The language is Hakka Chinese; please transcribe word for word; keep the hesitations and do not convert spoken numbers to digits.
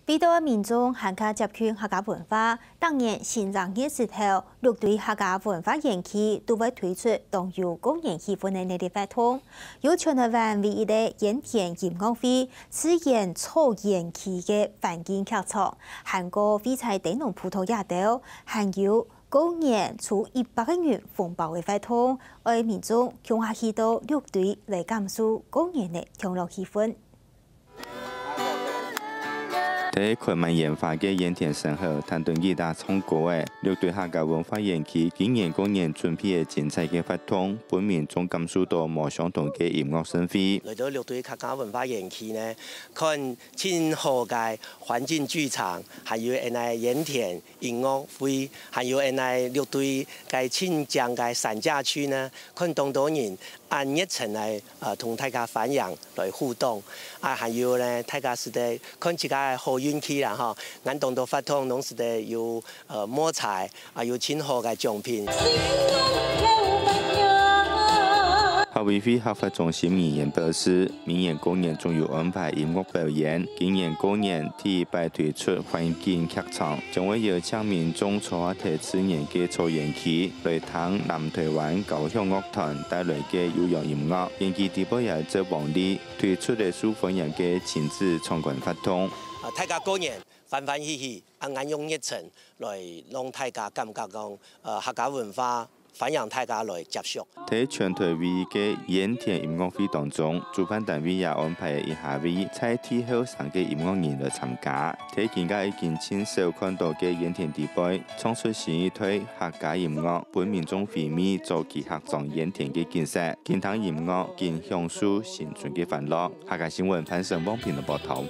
為著民眾還較接近客家文化，逐年新正月時頭，六堆客家文化園區都會推出當有過年氣氛个熱烈活動。有全臺灣唯一个鹽田音樂會、自然草園區个環境劇場，還過會在燈籠鋪頭這兜，還有過年抽一百個銀紅包个活動，愛民眾共下去到六堆來感受過年个同樂氣氛。 在開滿煙花个鹽田脣口，聽著吉他唱歌仔，六堆客家文化園區今年過年準備个精彩个活動，分民眾感受著無相同个音樂盛會。來到六堆客家文化園區呢，看盡好个環境劇場，還有𠊎等个鹽田音樂會，還有𠊎等个六堆个盡靚个山景區呢，看當多人恁熱情來，呃，同大家歡迎來互動。啊，還有呢，大家使得看自家个好運氣啦吼，恁當多活動攏使得有，呃，摸彩，啊，有盡好个獎品。客委會客發中心議員表示，明年過年總有安排音樂表演，今年過年第一擺推出環境劇場，將會邀請民眾坐在自然个草園區，來聽南臺灣交響樂團帶來个悠揚音樂。園區底背也有隻黃梨，推出了受歡迎个親子參觀活動。啊，大家過年歡歡喜喜，恁樣用熱情來讓大家感覺講，呃，客家文化歡迎大家來接觸。在全臺唯一个鹽田音樂會當中，主辦單位也安排一下位在地後生个音樂人來參加。在今下已經盡少看著个鹽田底背，唱出新一代客家音樂，分民眾回味早期客庄鹽田个景色，緊聽音樂，緊享受新春个歡樂。客家新聞潘成旺評論報導。